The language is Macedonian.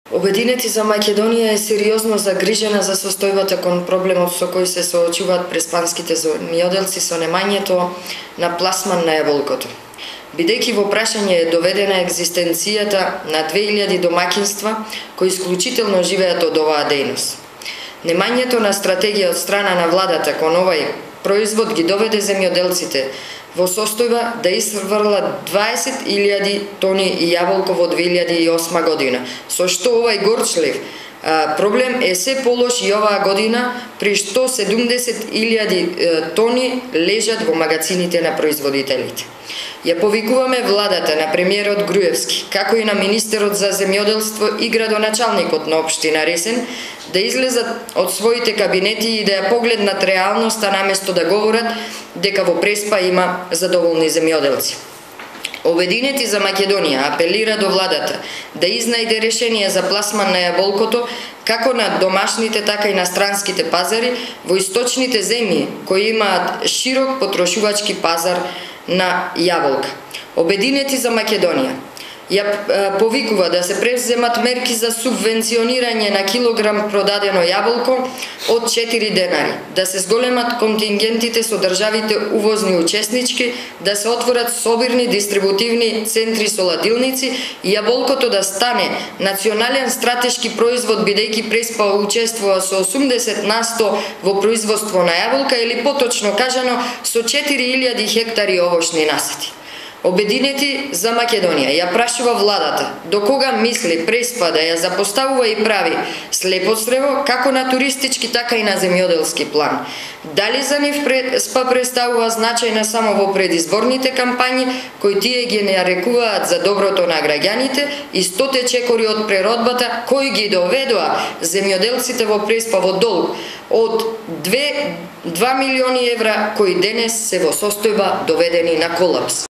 Обединети за Македонија е сериозно загрижена за состојбата кон проблемот со кој се соочуваат преспанските земјоделци со немањето на пласман на јаболкото. Бидејќи во прашање е доведена екзистенцијата на 2000 домаќинства кои исклучително живеат од оваа дејност. Немањето на стратегија од страна на владата кон овај производ ги доведе земјоделците во состојба да изфрлат 20.000 тони јаболко во 2008 година, со што овај горчлив проблем е се полош и оваа година, при што 70.000 тони лежат во магазините на производителите. Ја повикуваме владата на премиерот Груевски, како и на министерот за земјоделство и градоначалникот на општина Ресен, да излезат од своите кабинети и да ја погледнат реалноста наместо да говорат дека во Преспа има задоволни земјоделци. Обединети за Македонија апелира до владата да изнајде решение за пласман на јаболкото како на домашните, така и на странските пазари во источните земји кои имаат широк потрошувачки пазар на јаболка. Обединети за Македонија ја повикува да се преземат мерки за субвенционирање на килограм продадено јаболко од 4 денари, да се зголемат контингентите со државите увозни учеснички, да се отворат собирни дистрибутивни центри со ладилници и јаболкото да стане национален стратешки производ, бидејќи Преспа учествува со 80% во производство на јаболка или поточно кажано со 4000 хектари овошни насади. Обединети за Македонија ја прашува владата до кога мисли Преспа да ја запоставува и прави слепоцрево како на туристички, така и на земјоделски план. Дали за нив Преспа представува значајна само во предизборните кампањи, кои тие ги нарекуваат за доброто на граѓаните, и 100 чекори од преродбата кои ги доведоа земјоделците во Преспа во долг од 2 милиони евра, кои денес се во состојба доведени на колапс.